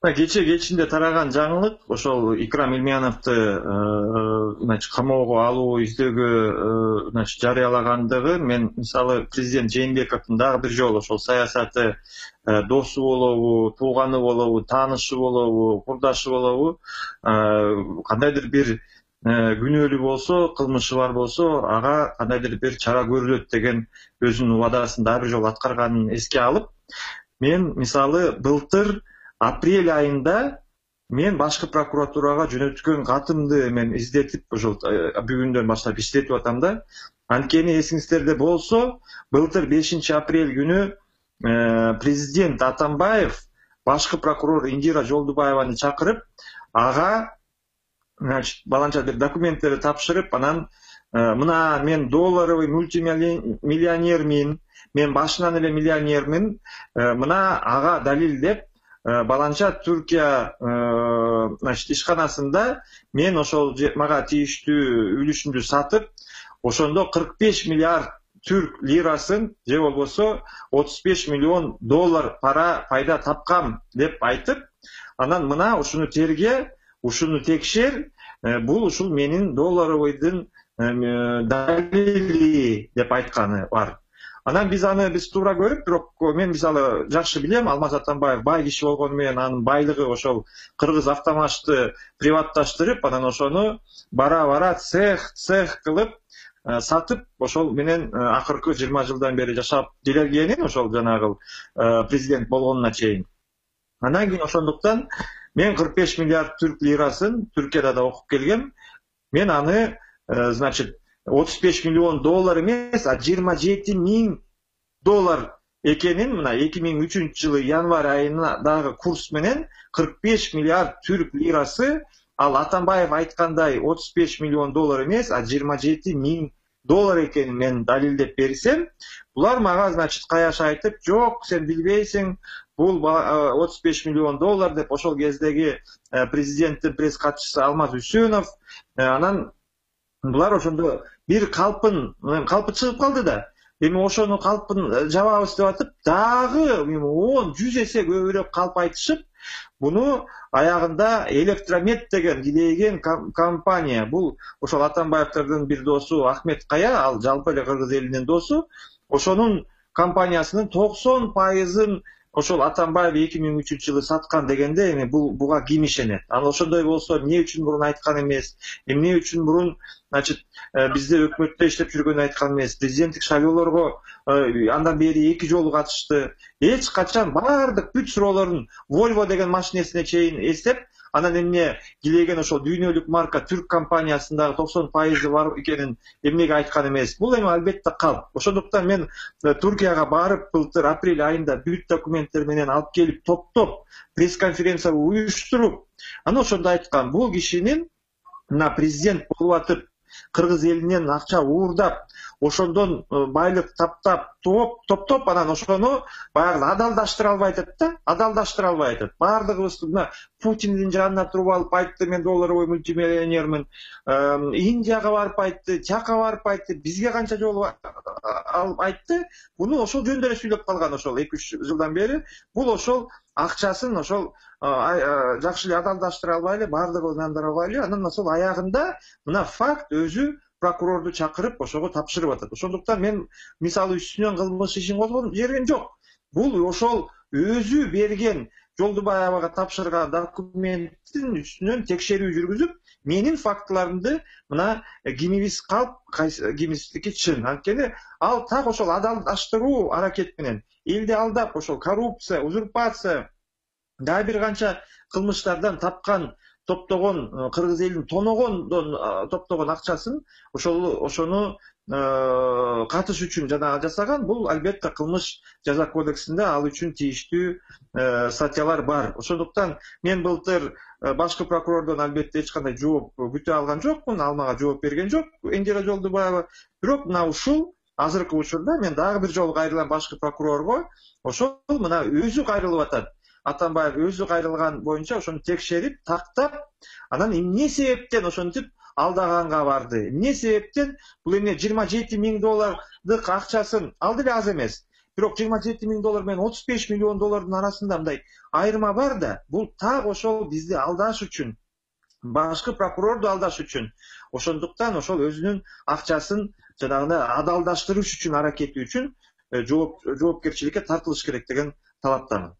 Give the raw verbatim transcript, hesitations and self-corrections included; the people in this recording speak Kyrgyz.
Кече кечинде тараган жаңылык ошол Икрам Илмияновду значит камоого алуу издөөгө значит жарыялагандыгы мен мисалы президент Жээнбековдун дагы бир жолу ошол саясаты досу болобу, тууганы болобу, таанышы болобу, курдашы болобу кандайдыр бир күнөөлүү болсо, кылмышы бар болсо, ага кандайдыр бир чара көрүлөт деген өзүнүн убадасын дагы бир жолу аткарганын эске алып, мен мисалы былтыр апрель айында мен башкы прокуратурага жөнөткөн катымды мен издетип ошол бүгүндөн баштап иштетип атам да. Анткени эсиңиздерде болсо, былтыр бешинчи апрель күнү президент Атамбаев башкы прокурор Индира Жолдубаеваны чакырып, ага значит баланча бир документтерди тапшырып, анан мына мен долларовый мультимиллионермин, мен башынан эле миллионермин, мына ага далилдеп баланча Түркия значит ишканасында мен ошол мага тийиштүү үлүшүмдү сатып, ошондо кырк беш миллиард түрк лирасын же болбосо отуз беш миллион доллар пара пайда тапкам деп айтып, анан мына ушуну терге, ушуну текшер, бул ушул менин долларовойдун далили деп айтканы бар. Анан биз аны биз туура көрүп, бирок мен мисалы жакшы билем, Алмаз Атамбаев бай киши болгону менен анын байлыгы ошол Кыргыз Автомашты приватташтырып, анан ошону бара-бара цех цех кылып сатып, ошол менен акыркы жыйырма жылдан бери жашап келгенин, ошол жанагы президент болгонуна чейин. Анан кийин ошондуктан мен кырк беш миллиард түрк лирасын Түркияда да окуп келгем. Мен аны значит отуз беш миллион доллар эмес, а жыйырма жети миң доллар экенин мына эки миң үчүнчү жылы январь айындагы курс менен кырк беш миллиард түрк лирасы, ал Атамбаев айткандай отуз беш миллион доллар эмес, а жыйырма жети миң доллар экенин мен далилдеп берсем, булар мага значит каяш айтып, жок, сен билбейсиң, бул отуз беш миллион доллар деп ошол кездеги президенттин пресс катчысы Алмаз Үсөнов, анан булар ошондо бир калпын калпы чыгып калды да. Эми ошону калпын жабабыз деп атып, дагы он жүз эсе көбүрөөк калп айтышып, буну аягында Электромет деген килейген компания, бул ошол Атамбаевдин бир досу Ахмет Кая, ал жалпы эле кыргыз элинин досу, ошонун компаниясынын токсон пайызын ошол Атамбаев эки миң үчүнчү жылы саткан дегенде, эми бул буга ким ишенет? Анан ошондой болсо, эмне үчүн мурун айткан эмес? Эмне үчүн мурун значит бизде өкмөттө иштеп жүргөнү айткан эмес? Президенттик шайлоолорго андан бери эки жолу катышты. Эч качан бардык бүт суроолорун Volvo деген машинесине чейин эстеп, анан эмне килеген ошол дүйнөлүк марка түрк компаниясындагы токсон пайызы бар экенин эмнеге айткан эмес? Бул эми албетте калп. Ошондуктан мен Түркияга барып, былтыр апрель айында бүт документтер менен алып келип, топтоп пресс-конференция уюштуруп, анан ошондо айткан, бул кишинин мына президент болуп атып, кыргыз элинен акча уурдап, ошондон байлык таптап, топ топтоп, анан ошону баягы адалдаштыра албай атат да, адалдаштыра албай атат. Бардыгыбыз мына Путиндин жанына туруп алып айтты, мен долларовый мультимиллионермин. Индияга барып айтты, тияка барып айтты, бизге канча жолу алып айтты. Буну ошол жөнүндө эле сүйлөп калган ошол эки үч жылдан бери. Бул ошол акчасын ошол жакшы эле адалдаштыра албай эле, бардыгы ынандыра албай эле, анан ошол аягында мына факт өзү прокурорду чакырып ошого тапшырып атат. Ошондуктан мен мисалы үстүнөн кылмыш ишин козгоп жиберген жок. Бул ошол өзү берген Жолдубаевага тапшырган документтин үстүнөн текшерүү жүргүзүп, менин фактыларымды мына кимибиз калп, кимибиздики чын. Анткени ал так ошол адалдаштыруу аракет менен элди алдап, ошол коррупция, узурпация, дагы бир канча кылмыштардан тапкан топтогон кыргыз элинин тоногондон топтогон акчасын ошол ошону катыш үчүн жана жасаган. Бул албетте кылмыш жаза кодексинде ал үчүн тийиштүү статьялар бар. Ошондуктан мен былтыр башкы прокурордон албетте эч кандай жооп күтө алган жокмун, ал мага жооп берген жок Индира Жолдубаева. Бирок мына ушул азыркы учурда мен дагы бир жолу кайрылам башкы прокурорго, ошол мына өзү кайрылып атат. Атамбаев өзү кайрылган боюнча ошону текшерип, тактап, анан эмне себептен ошентип алдаганга барды? Эмне себептен бул эмне жыйырма жети миң доллардык акчасын, ал деле аз эмес, бирок жыйырма жети миң доллар менен отуз беш миллион доллардын арасында мындай айырма бар да, бул так ошол бизди алдаш үчүн, башкы прокурорду алдаш үчүн, ошондуктан ошол өзүнүн акчасын жанагы адалдаштырыш үчүн аракети үчүн жооп жоопкерчиликке тартылыш керек деген талаптамын.